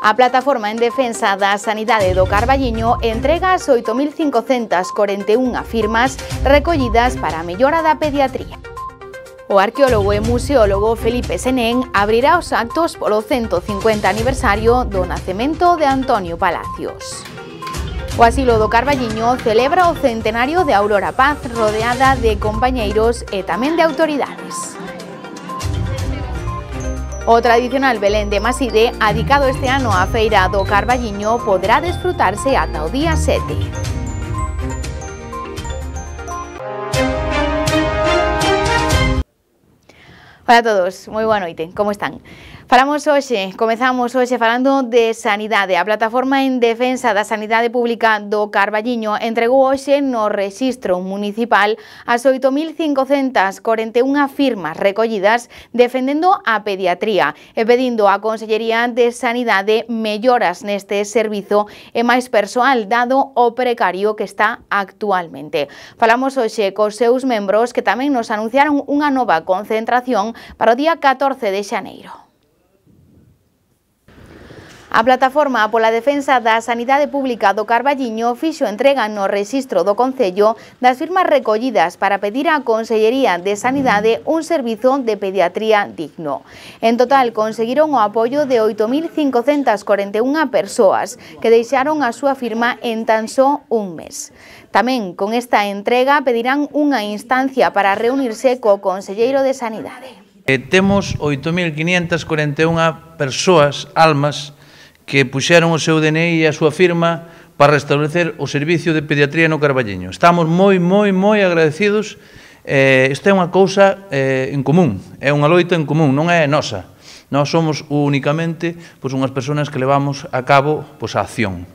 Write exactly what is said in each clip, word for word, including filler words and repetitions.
A Plataforma en Defensa da Sanidade do Carballiño entrega as oito mil cincocentas corenta e unha firmas recollidas para a mellora da pediatría. O arqueólogo e museólogo Felipe Senén abrirá os actos polo ciento cincuenta aniversario do nacemento de Antonio Palacios. O Asilo do Carballiño celebra o centenario de Aurora Paz rodeada de compañeiros e tamén de autoridades. O tradicional Belén de Maside, adicado este ano á Feira do Carballiño, poderá desfrutarse ata o día sete. Hola a todos, moi boa noite, como están? Falamos hoxe, comezamos hoxe falando de sanidade. A Plataforma en Defensa da Sanidade Pública do Carballiño entregou hoxe no rexistro municipal as oito mil cincocentas corenta e unha firmas recollidas defendendo a pediatría e pedindo á Consellería de Sanidade melloras neste servizo e máis persoal dado o precario que está actualmente. Falamos hoxe cos seus membros que tamén nos anunciaron unha nova concentración para o día catorce de xaneiro. A Plataforma pola Defensa da Sanidade Pública do Carballiño fixo entrega no rexistro do Concello das firmas recollidas para pedir á Consellería de Sanidade un servizo de pediatría digno. En total, conseguiron o apoio de oito mil cincocentas corenta e unha persoas que deixaron a súa firma en tan só un mes. Tamén, con esta entrega, pedirán unha instancia para reunirse co Conselleiro de Sanidade. Eh, temos oito mil quinientas corenta e unha persoas, almas, que puxeron o seu D N I e a súa firma para restablecer o servicio de pediatría no Carballiño. Estamos moi, moi, moi agradecidos. Eh, isto é unha cousa eh, en común, é unha loita en común, non é nosa. Nós somos únicamente pois, unhas persoas que levamos a cabo pois, a acción.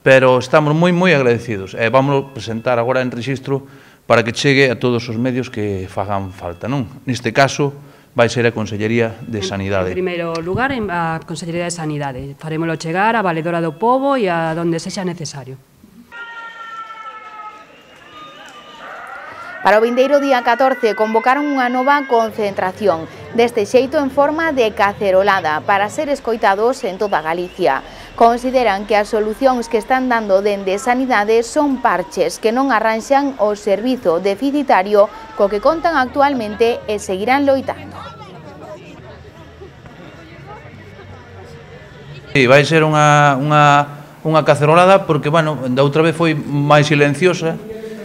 Pero estamos moi, moi agradecidos. E vamos presentar agora en rexistro para que chegue a todos os medios que fagan falta, non? Neste caso, vai ser a Consellería de Sanidade. En primeiro lugar, a Consellería de Sanidade. Farémolo chegar a Valedora do Pobo e a donde sexa necesario. Para o vindeiro día catorce convocaron unha nova concentración, deste xeito en forma de cacerolada, para ser escoitados en toda Galicia. Consideran que as solucións que están dando dende Sanidade son parches que non arranxan o servizo deficitario co que contan actualmente e seguirán loitando. Sí, vai ser unha, unha, unha cacerolada porque, bueno, da outra vez foi máis silenciosa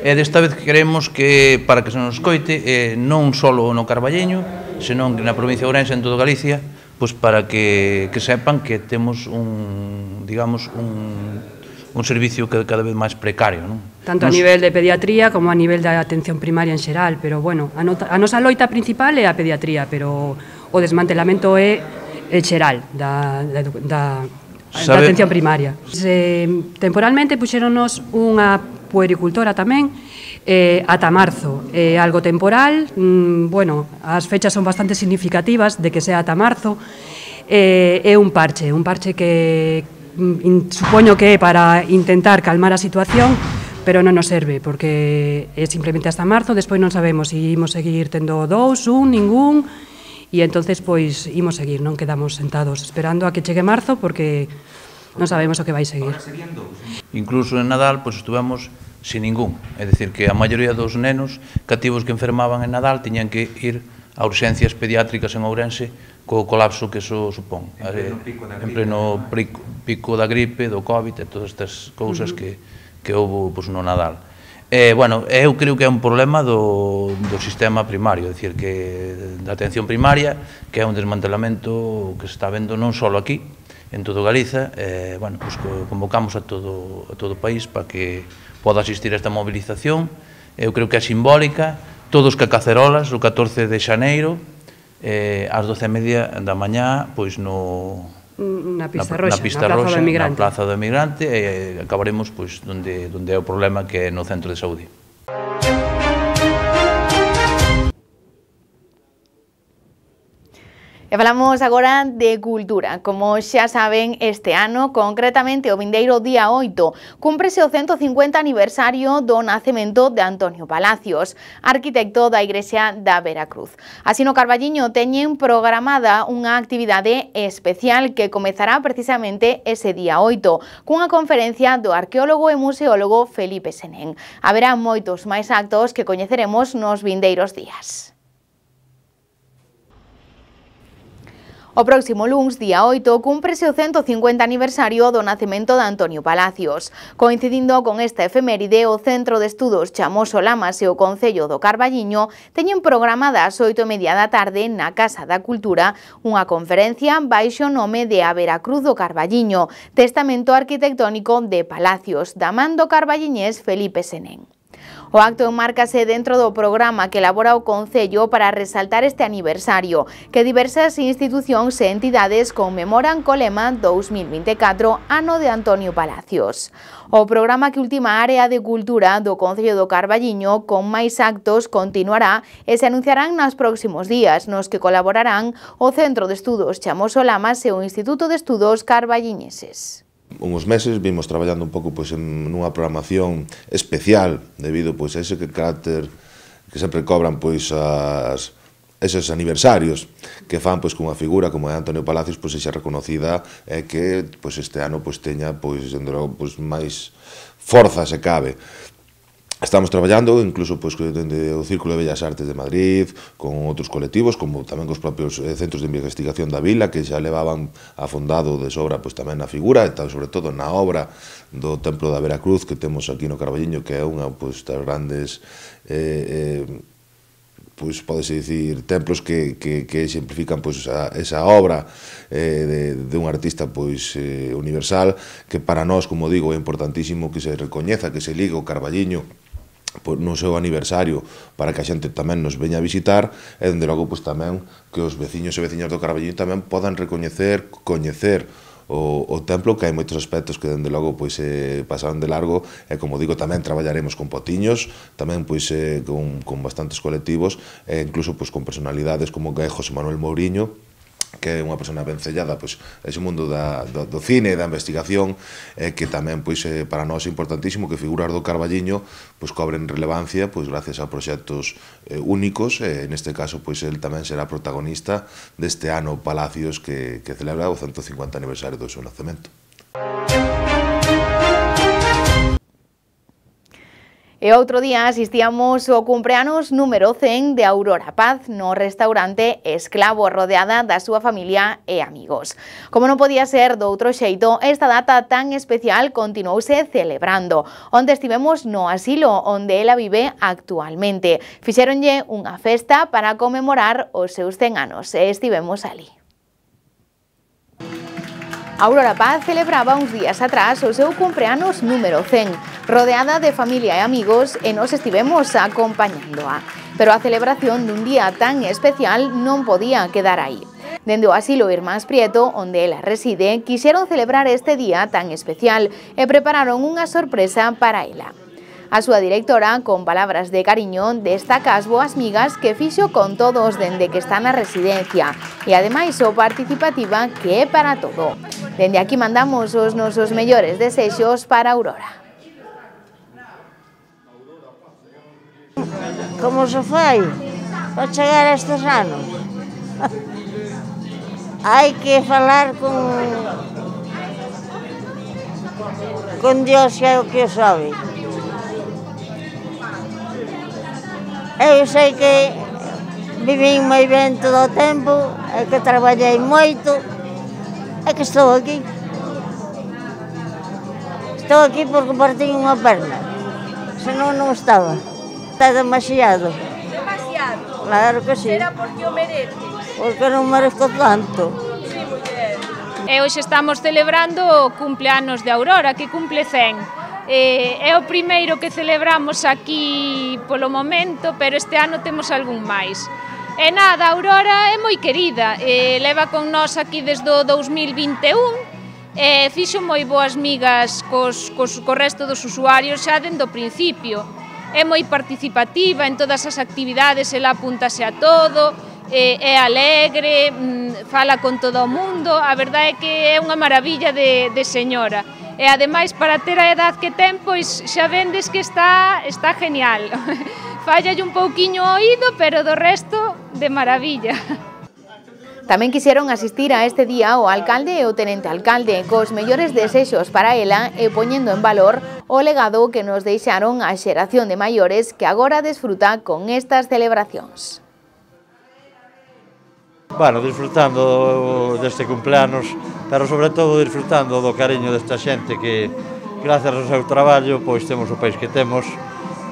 e desta vez queremos que, para que se nos coite, eh, non só no Carballiño, senón que na provincia de Ourense, en toda Galicia, pois para que, que sepan que temos un, digamos, un, un servicio que cada vez máis precario, non? Tanto Nos... a nivel de pediatría como a nivel da atención primaria en xeral, pero, bueno, a, nota, a nosa loita principal é a pediatría, pero o desmantelamento é el xeral da, da, da, da atención primaria. Se, temporalmente puxéronos unha puericultora tamén, eh, ata marzo, eh, algo temporal, mm, bueno, as fechas son bastante significativas de que sea ata marzo, eh, é un parche, un parche que mm, supoño que é para intentar calmar a situación, pero non nos serve, porque é simplemente hasta marzo, despois non sabemos se si imos seguir tendo dous, un, ningún, e entonces pois imos seguir, non quedamos sentados esperando a que chegue marzo, porque non sabemos o que vai seguir. Incluso en Nadal, pois estuvemos sin ningún, é dicir, que a maioría dos nenos cativos que enfermaban en Nadal tiñan que ir a urxencias pediátricas en Ourense co colapso que eso supón, en pleno pico, pico da gripe, do COVID e todas estas cousas uh -huh. que, que houve pois, no Nadal. Eh, bueno, eu creo que é un problema do, do sistema primario, é dicir, que da atención primaria, que é un desmantelamento que se está vendo non só aquí, en todo Galiza, eh, bueno, pues convocamos a todo, a todo o país para que poda asistir a esta movilización. Eu creo que é simbólica, todos que cacerolas, o catorce de xaneiro, eh, ás doce e media da mañá, pois no... Na pista roxa, na, pista na Plaza roxa, do Emigrante. Na Plaza do Emigrante, e acabaremos pois, donde, donde é o problema, que é no centro de saúde. E falamos agora de cultura. Como xa saben, este ano, concretamente o vindeiro día oito, cúmprese o ciento cincuenta aniversario do nacemento de Antonio Palacios, arquitecto da Igrexa da Veracruz. Así no Carballiño teñen programada unha actividade especial que comezará precisamente ese día oito, cunha conferencia do arqueólogo e museólogo Felipe Senén. Haberá moitos máis actos que coñeceremos nos vindeiros días. O próximo luns, día oito, cúmprese o ciento cincuenta aniversario do nacemento de Antonio Palacios. Coincidindo con esta efeméride, o Centro de Estudos Chamoso Lamas e o Concello do Carballiño teñen programada ás oito e media da tarde na Casa da Cultura unha conferencia baixo o nome de A Veracruz do Carballiño, testamento arquitectónico de Palacios, da man do carballiñés Felipe Senén. O acto enmárcase dentro do programa que elabora o Concello para resaltar este aniversario, que diversas institucións e entidades conmemoran co lema dous mil vinte e catro, ano de Antonio Palacios. O programa que ultima a área de cultura do Concello do Carballiño con máis actos continuará e se anunciarán nos próximos días, nos que colaborarán o Centro de Estudos Chamoso Lamas e o Instituto de Estudos Carballiñeses. Uns meses vimos traballando un pouco pois, en nunha programación especial debido pois, a ese carácter que sempre cobran pois, as, eses aniversarios que fan pois, cunha figura como é Antonio Palacios pois, xa reconocida e que pois, este ano pois, teña pois, pois, máis forza se cabe. Estamos traballando incluso pois, dende o Círculo de Bellas Artes de Madrid, con outros colectivos, como tamén cos propios centros de investigación da vila, que xa levaban afondado de sobra pois, tamén na figura, e sobre todo na obra do Templo da Veracruz que temos aquí no Carballiño, que é unha pois, das grandes... Eh, eh, pois podese dicir, templos que, que, que exemplifican pois, a, esa obra eh, de, de un artista pois, eh, universal, que para nós, como digo, é importantísimo que se recoñeza, que se ligue o Carballiño no seu aniversario para que a xente tamén nos veña a visitar e, dende logo, pois, tamén que os veciños e veciñas do Carballiño tamén podan recoñecer, coñecer o, o templo, que hai moitos aspectos que, dende logo, pois, eh, pasaron de largo e, como digo, tamén traballaremos con potiños, tamén pois, eh, con, con bastantes colectivos e incluso pois, con personalidades como que é José Manuel Mouriño, que é unha persona vencellada pois, ese mundo da, do, do cine e da investigación, eh, que tamén pois, eh, para nós é importantísimo que figuras do Carballiño pois, cobren relevancia pois, gracias a proxectos eh, únicos, e neste caso pois, el tamén será protagonista deste ano Palacios que, que celebra o ciento cincuenta aniversario do seu nacemento. E outro día asistíamos ao cumpleanos número cen de Aurora Paz no restaurante Esclavo, rodeada da súa familia e amigos. Como non podía ser do outro xeito, esta data tan especial continuouse celebrando, onde estivemos no asilo onde ela vive actualmente. Fixéronlle unha festa para conmemorar os seus cen anos e estivemos ali. Aurora Paz celebraba uns días atrás o seu cumpleanos número cen, rodeada de familia e amigos, e nos estivemos acompañándoa. Pero a celebración dun día tan especial non podía quedar aí. Dende o asilo Irmáns Prieto, onde ela reside, quixeron celebrar este día tan especial e prepararon unha sorpresa para ela. A súa directora, con palabras de cariño, destaca as boas migas que fixo con todos dende que está na residencia e, ademais, o participativa que é para todo. Dende aquí mandamos os nosos mellores desexos para Aurora. Como se foi para chegar a estes anos? Hai que falar con con Dios, que é o que o sabe. Eu sei que vivín moi ben todo o tempo, e que traballei moito, e que estou aquí. Estou aquí porque partín unha perna, senón non estaba. Está demasiado. Demasiado? Claro que sí. Será porque o mereces? Porque non merezco tanto. Sí, muller. E hoxe estamos celebrando o cumpleanos de Aurora, que cumple cen. Eh, é o primeiro que celebramos aquí polo momento, pero este ano temos algún máis. E nada, Aurora é moi querida, eh, leva con nós aquí desde o dous mil vinte e un, e fixo moi boas migas cos, cos, co resto dos usuarios xa dende o principio. É moi participativa en todas as actividades, ela apúntase a todo, é alegre, fala con todo o mundo, a verdade é que é unha maravilla de, de señora. E ademais, para ter a edad que ten, pois xa vendes que está, está genial. Fallalle un pouquiño o oído, pero do resto, de maravilla. Tamén quixeron asistir a este día o alcalde e o tenente alcalde, cos mellores desexos para ela e poñendo en valor o legado que nos deixaron a xeración de maiores que agora desfruta con estas celebracións. Bueno, disfrutando deste cumpleanos, pero sobre todo disfrutando do cariño desta xente que, gracias ao seu traballo, pois temos o país que temos.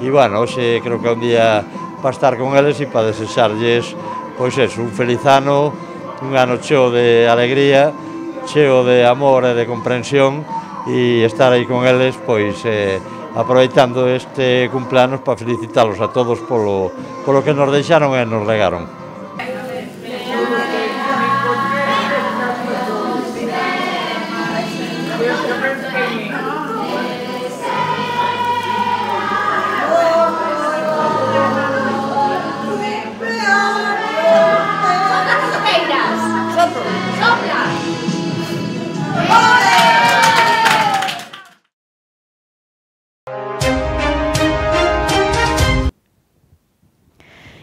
E, bueno, hoxe creo que é un día para estar con eles e para desexarlles, pois eso, un feliz ano, un ano cheo de alegría, cheo de amor e de comprensión, e estar aí con eles, pois, eh, aproveitando este cumpleanos para felicitalos a todos polo, polo que nos deixaron e nos legaron.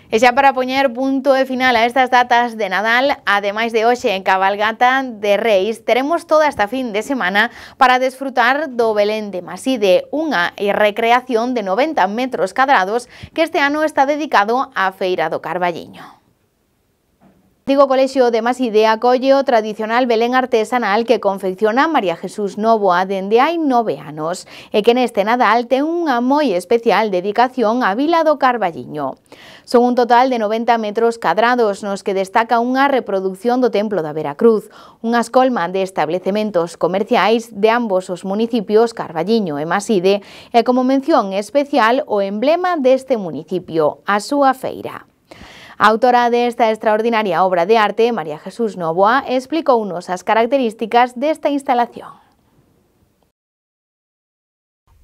E xa para poñer punto e final a estas datas de Nadal, ademais de hoxe en cabalgata de Reis, teremos toda esta fin de semana para desfrutar do Belén de Maside, unha recreación de noventa metros cadrados que este ano está dedicado á Feira do Carballiño. O Antigo Colexio de Maside acolle o tradicional Belén artesanal que confecciona María Jesús Novoa dende hai nove anos e que neste Nadal ten unha moi especial dedicación á Vila do Carballiño. Son un total de noventa metros cadrados nos que destaca unha reproducción do Templo da Veracruz, unha escolma de establecementos comerciais de ambos os municipios Carballiño e Maside e como mención especial o emblema deste municipio, a súa feira. A autora desta extraordinaria obra de arte, María Jesús Novoa, explicounos as características desta instalación.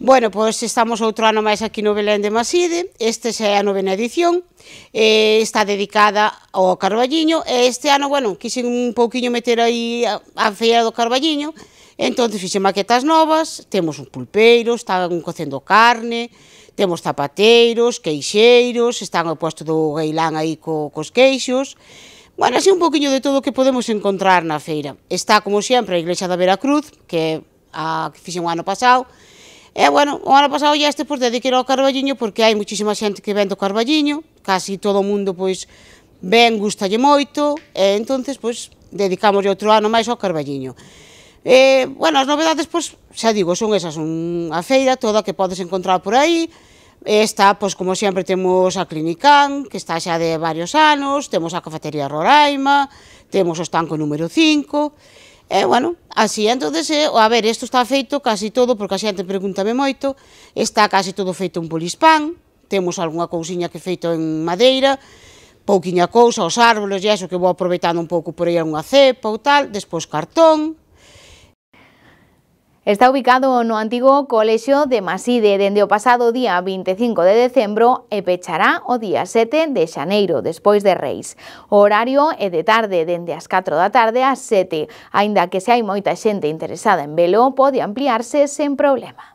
Bueno, pois estamos outro ano máis aquí no Belén de Maside, este xa é a novena edición, eh, está dedicada ao Carballiño, e este ano, bueno, quixen un pouquiño meter aí a, a feira do Carballiño, entón fixen maquetas novas, temos un pulpeiro, están cocendo carne, temos zapateiros, queixeiros, están ao posto do gailán aí co, cos queixos. Bueno, así un poquinho de todo o que podemos encontrar na feira. Está, como sempre, a Iglesia da Veracruz, que é a que fixen o ano pasado. E, bueno, o ano pasado ya este, pois, dediquei ao Carballiño, porque hai muchísima xente que ven do Carballiño, casi todo o mundo, pois, ven, gustalle moito, e, entonces, pois, dedicamos outro ano máis ao Carballiño. Eh, bueno, as novedades, pois, xa digo, son esas, unha feira toda que podes encontrar por aí. Está, pois, como sempre, temos a Clinicán, que está xa de varios anos, temos a Cafetería Roraima, temos o estanco número cinco, e, bueno, así, entonces, eh, a ver, isto está feito casi todo, porque a xente pregúntame moito, está casi todo feito en polispán, temos algunha cousiña que feito en madeira, pouquiña cousa, os árboles e eso que vou aproveitando un pouco por aí unha cepa ou tal, despois cartón. Está ubicado no Antigo Colexio de Maside dende o pasado día vinte e cinco de decembro e pechará o día sete de xaneiro, despois de Reis. O horario é de tarde, dende as catro da tarde ás sete, aínda que se hai moita xente interesada en velo, pode ampliarse sen problema.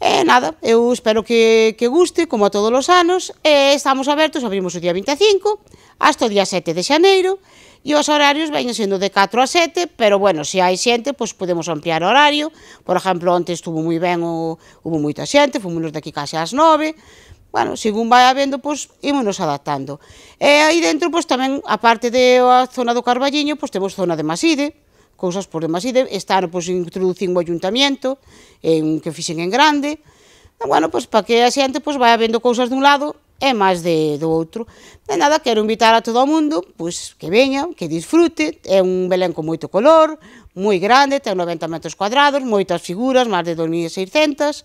E nada, eu espero que, que guste, como a todos os anos, e estamos abertos, abrimos o día vinte e cinco, hasta o día sete de xaneiro, e os horarios veñen sendo de catro a sete, pero, bueno, se hai xente, pois podemos ampliar o horario. Por exemplo, onte estuvo moi ben, o, hubo moita xente, fomos daqui case ás nove, bueno, según vai habendo, pois, ímonos adaptando. E aí dentro, pois, tamén, a parte da zona do Carballiño, pois, temos zona de Maside, cousas por de Maside, está, pois, introducín o ayuntamiento, en, que fixen en grande, e, bueno, pois, para que a xente, pois, vai habendo cousas dun lado, e máis de, do outro. De nada, quero invitar a todo o mundo, pois, que veña, que disfrute, é un Belén con moito color, moi grande, ten noventa metros cuadrados, moitas figuras, máis de dos mil seiscentas,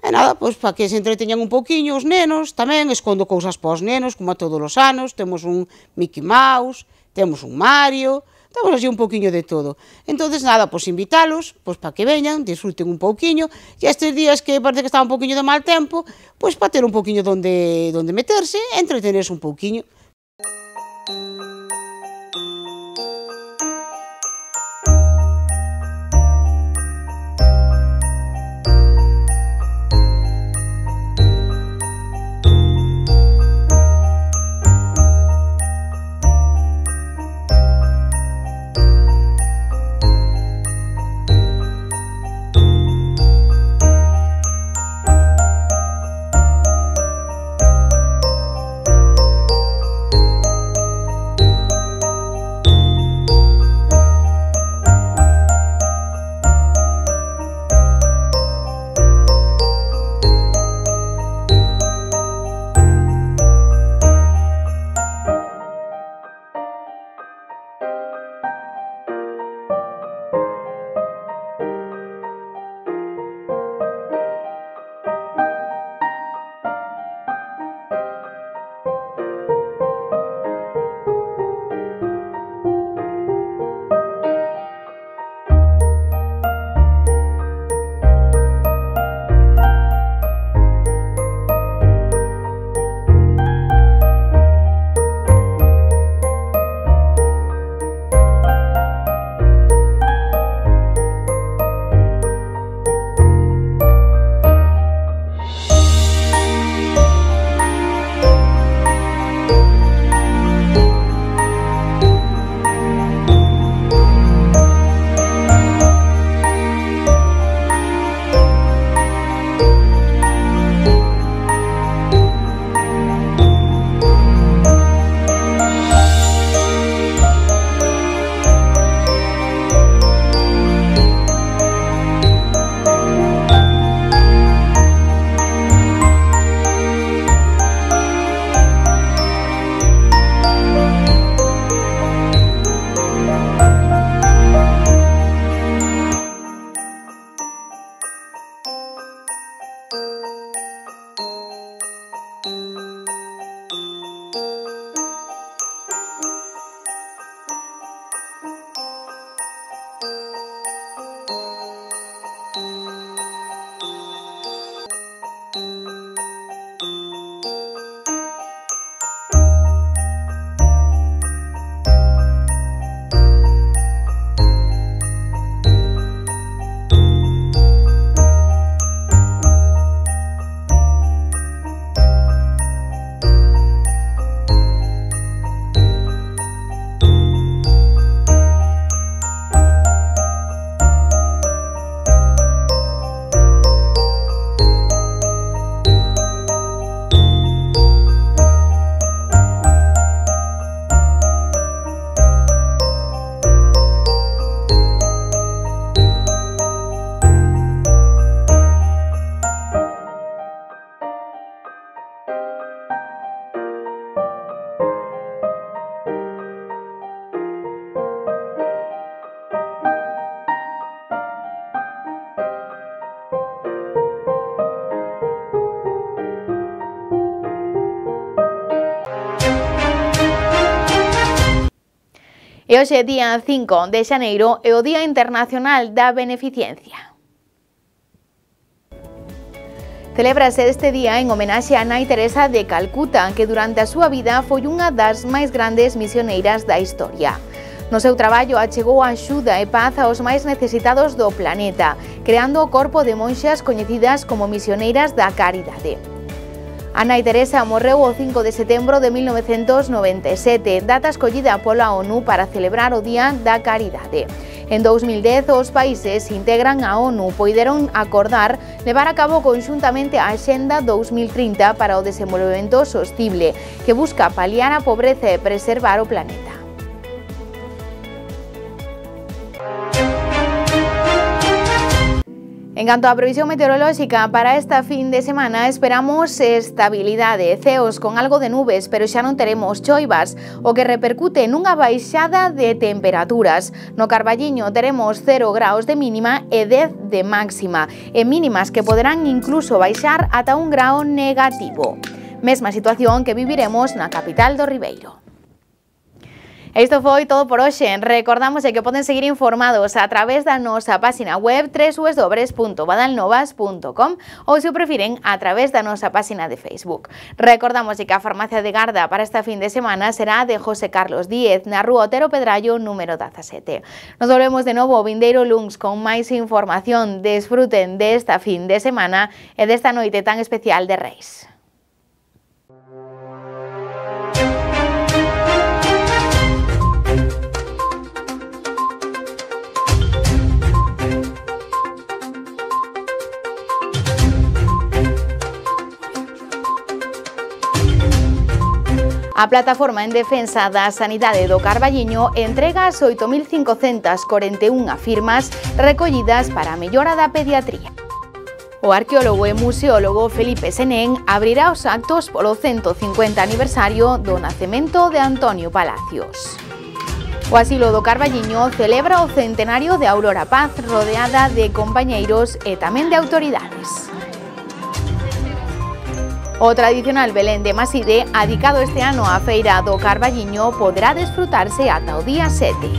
e nada, pois, para que se entreteñan un pouquiño os nenos, tamén escondo cousas para os nenos, como a todos os anos, temos un Mickey Mouse, temos un Mario, Estamos así un pouquiño de todo. Entonces, nada, pois invitalos, pois para que veñan, disfruten un pouquiño, e estes días que parece que está un pouquiño de mal tempo, pois para ter un pouquiño donde, donde meterse e entretenerse un pouquiño. E hoxe, día cinco de xaneiro, é o Día Internacional da Beneficencia. Celébrase este día en homenaxe a Nai Teresa de Calcuta, que durante a súa vida foi unha das máis grandes misioneiras da historia. No seu traballo achegou axuda e paz aos máis necesitados do planeta, creando o corpo de monxas coñecidas como misioneiras da caridade. A Nai Teresa morreu o cinco de setembro de mil novecentos noventa e sete, data escollida pola ONU para celebrar o Día da Caridade. En dous mil dez, os países que integran a ONU poideron acordar levar a cabo conxuntamente a Axenda dous mil trinta para o desenvolvemento sostible, que busca paliar a pobreza e preservar o planeta. En canto á previsión meteorolóxica, para esta fin de semana esperamos estabilidade, ceos con algo de nubes, pero xa non teremos choivas, o que repercute nunha baixada de temperaturas. No Carballiño teremos cero graus de mínima e dez de máxima, e mínimas que poderán incluso baixar ata un grao negativo. Mesma situación que viviremos na capital do Ribeiro. Isto foi todo por hoxe. Recordamos que poden seguir informados a través da nosa página web w w w punto badalnovas punto com ou, se o prefiren, a través da nosa página de Facebook. Recordamos que a farmacia de garda para esta fin de semana será de José Carlos Díez, na rúa Otero Pedrallo, número dezasete. Nos volvemos de novo o vindeiro luns con máis información. Desfruten desta fin de semana e desta noite tan especial de Reis. A Plataforma en Defensa da Sanidade do Carballiño entrega as oito mil cincocentas corenta e unha firmas recollidas para a mellora da pediatría. O arqueólogo e museólogo Felipe Senén abrirá os actos polo ciento cincuenta aniversario do nacemento de Antonio Palacios. O Asilo do Carballiño celebra o centenario de Aurora Paz, rodeada de compañeiros e tamén de autoridades. O tradicional Belén de Maside, adicado este ano á Feira do Carballiño, poderá desfrutarse ata o día sete.